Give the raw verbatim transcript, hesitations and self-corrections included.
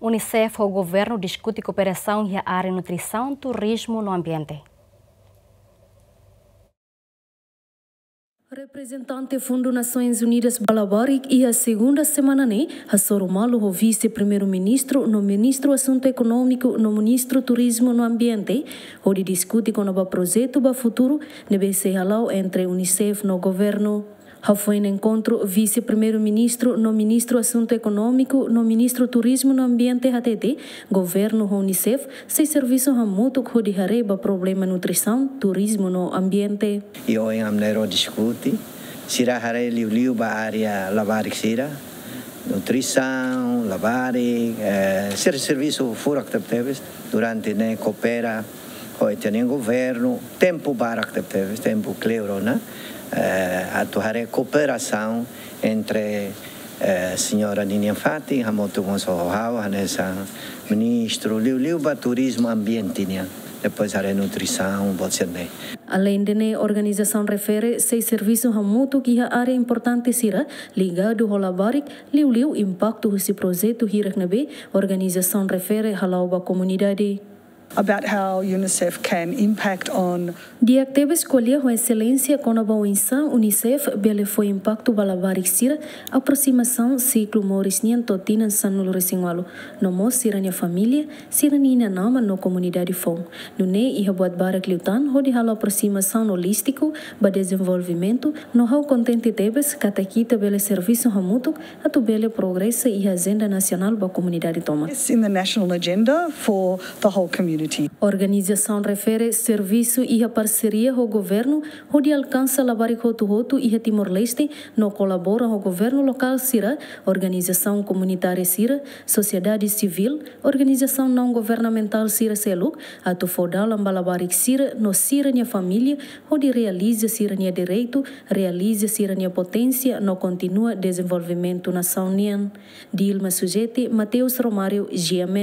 UNICEF ho governu diskute kooperasaun iha área nutrisaun, turizmu no ambiente. Reprezentante Fundu Nasoins Unidas ba Labarik iha segunda semana ne'e hasoru malu ho Vise-Primeiru-Ministru no Ministru Asuntu Ekonómiku no Ministru Turizmu no Ambiente, hodi diskute kona-ba projetu ba futuru ne'ebé sei hala'o entre UNICEF no governu. Hafoin enkontru, Vise-Primeiru-Ministru no Ministru Asuntu Ekonómiku no Ministru Turizmu no Ambiente hatete, governu ho UNICEF sei servisu hamutuk hodi haree ba problema nutrisaun, turizmu no ambiente. I ohin ami na'in-rua diskute, sira haree liuliu ba área labarik sira, nutrisaun, labarik, eh, sira servisu furak tebetebes durante ne'e, koopera ho ita-nia governu, tempu barak tebetebes, tempu kleur ona, eh, atu haree kooperasaun entre, eh, señora ninian fatin, hamutuk mós ho ha'u, hanesan ministru, liuliu ba turizmu ambiente nian, depois haree nutrisaun, buat sira-ne'e. Aleinde ne'e, organizasaun refere sei servisu hamutuk iha área importante sira ligadu ho labarik, liuliu impaktu husi projetu hirak ne'ebé organizasaun refere hala'o ba komunidade. About how UNICEF can impact on. Di'ak tebes ko'alia ho Exelénsia kona-ba oinsá UNICEF bele fó impaktu ba labarik sira, aproximasaun siklu moris nian to'o tinan sanulu-resin-ualu, no mós sira-nia família, sira-nia inan-aman no komunidade foun. Nune'e iha buat barak liután hodi halo aproximasaun holístiku ba dezenvolvimentu, no ha'u kontente tebes katak ita bele servisu hamutuk atu bele progresa iha ajenda nasionál ba komunidade tomak. It's in the national agenda for the whole community. Organizasaun refere servisu iha parseria ho governu hodi alkansa labarik hotu-hotu iha Timor-Leste no kolabora ho governu lokál sira, organizasaun komunitária sira, sosiedade sivíl, organizasaun naun-governamentál sira seluk, atu fó dalan ba labarik sira no sira-nia família hodi realiza sira-nia direitu, realiza sira-nia poténsia no kontinua dezenvolvimentu nasaun nian. Dilma Sujeti, Mateus Romário, GMN.